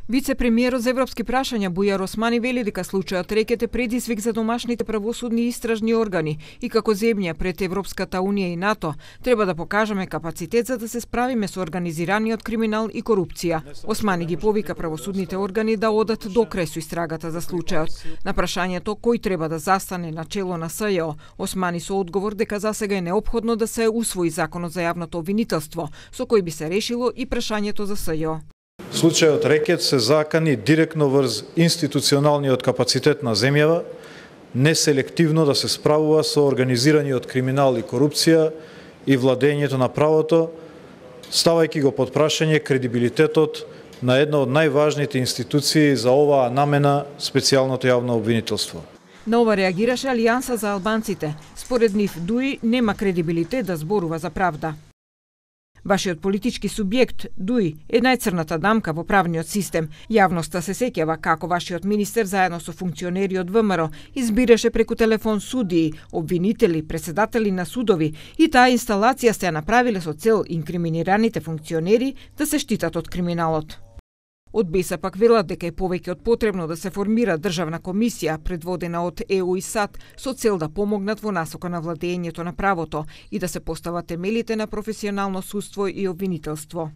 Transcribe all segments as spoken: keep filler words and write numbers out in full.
Вице-премиерот за европски прашања Бујар Османи вели дека случајот Рекет е предизвик за домашните правосудни и истражни органи и како земја пред Европската унија и НАТО треба да покажеме капацитет за да се справиме со организираниот криминал и корупција. Османи ги повика правосудните органи да одат до крај со истрагата за случајот. На прашањето кој треба да застане на чело на СЈО, Османи со одговор дека засега е неопходно да се усвои законот за јавното обвинителство, со кој би се решило и прашањето за СЈО. Случајот Рекет се закани директно врз институционалниот капацитет на земјава, неселективно да се справува со организираниот криминал и корупција и владењето на правото, ставајќи го под прашање кредибилитетот на една од најважните институции за оваа намена, специјалното јавно обвинителство. На ова реагираше Алијанса за албанците. Според нив ДУИ нема кредибилитет да зборува за правда. Вашиот политички субјект, ДУИ, е најцрната дамка во правниот систем. Јавноста се сеќава како вашиот министер заедно со функционери од ВМРО избираше преку телефон судии, обвинители, председатели на судови и таа инсталација се ја направиле со цел инкриминираните функционери да се штитат од криминалот. Од БЕСА пак велат дека е повеќе од потребно да се формира државна комисија предводена од ЕУ и САД со цел да помогнат во насока на владењето на правото и да се постават темелите на професионално судство и обвинителство.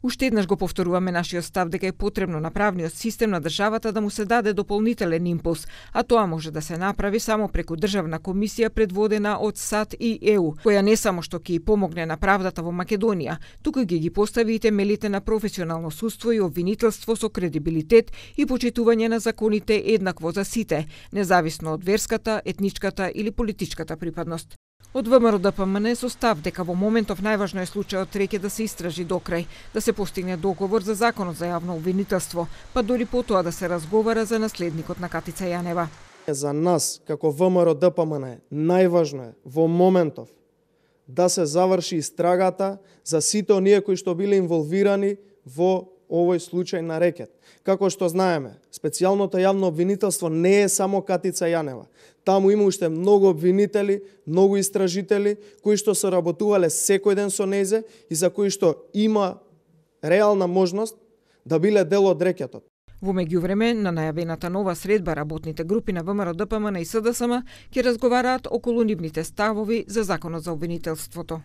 Уште еднаш го повторуваме нашиот став дека е потребно на правниот систем на државата да му се даде дополнителен импулс, а тоа може да се направи само преку државна комисија предводена од САД и ЕУ, која не само што ќе помогне на правдата во Македонија, туку ќе ги постави и темелите на професионално судство и обвинителство со кредибилитет и почитување на законите еднакво за сите, независно од верската, етничката или политичката припадност. Од ВМРО Д П М Н со став дека во моментов најважно е случајот Рекет да се истражи до крај, да се постигне договор за законот за јавно обвинителство, па дури потоа да се разговара за наследникот на Катица Јанева. За нас, како ВМРО Д П М Н, најважно е во моментов да се заврши истрагата за сите оние кои што биле инволвирани во овој случај на Рекет. Како што знаеме, специјалното јавно обвинителство не е само Катица Јанева. Таму има уште многу обвинители, многу истражители кои што се работувале секој ден со нејзе и за кои што има реална можност да биле дел од Рекетот. Во меѓувреме, на најавената нова средба работните групи на ВМРО Д П М Н и С Д С М ќе разговараат околу нивните ставови за законот за обвинителството.